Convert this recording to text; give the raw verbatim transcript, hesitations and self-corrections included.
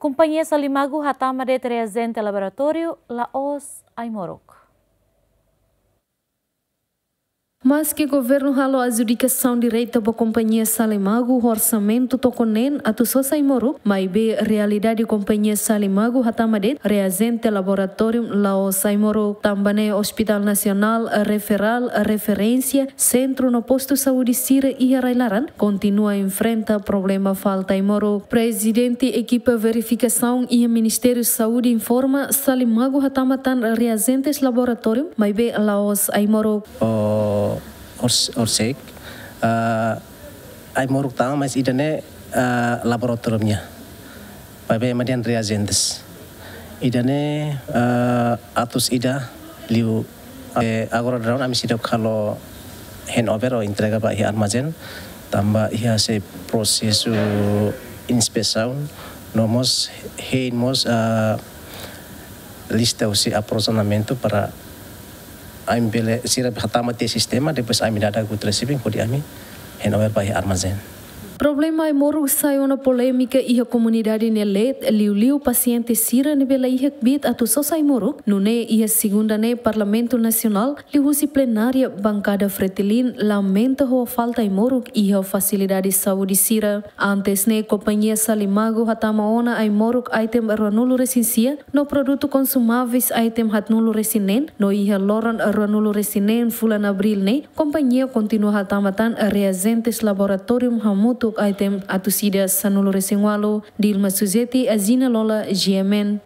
Kompañia Salimagu hatama de'it reajente laboratóriu la'ós ai-moruk. Maski governu halo adjudikasaun direta ba kompañia Salimagu ho orsamentu toko neen atu sosa ai-moruk, maibé realidade kompañia Salimagu hatama de'it reajente laboratóriu la'ós ai-moruk. Tanba ne'e Hospital Nasionál, Referál, Referénsia, Sentru no Postu Saúde sira iha rai-laran kontinua enfrenta problema falta ai-moruk. Prezidente ekipa verifikasaun iha Ministériu Saúde informa Salimagu hatama tan reajentes laboratóriu, maibé la'ós ai-moruk. O ors-, orsek, ah, ai-moruk tama, mas ida-ne'e, ah, laboratóriu nian. Maibé ema dehan reajentes. Ida-ne'e, ah, atus ida liu. Eh, agora daudaun ami seidauk halo handover ou entrega ba iha armazén, tanba iha sei prosesu inspesaun, no mós hein mós, ah, lista husi aprovizionamentu para ami bele sira hatama tiha sistema, depois ami dada good receiving hodi ami handover ba iha armazén. Problema ai-moruk sai ona polémika iha komunidade nia leet, liuliu pasiente sira ne'ebé la iha kbiit atu sosa ai-moruk. Nune'e iha segunda ne'e Parlamentu Nasionál liuhusi plenária bankada Fretilin lamenta ho falta ai-moruk iha fasilidade saúde sira. Antes ne'e kompañia Salimagu hatama ona ai-moruk item ruanulu resin sia no produtu konsumáveis item haatnulu resin neen, no iha loron ruanulu resin neen fulan Abríl ne'e kompañia kontinua hatama tan reajentes laboratóriu hamutuk item atus ida sanulu resin ualu. Dilma Suzeti, Azina Lola, G M N.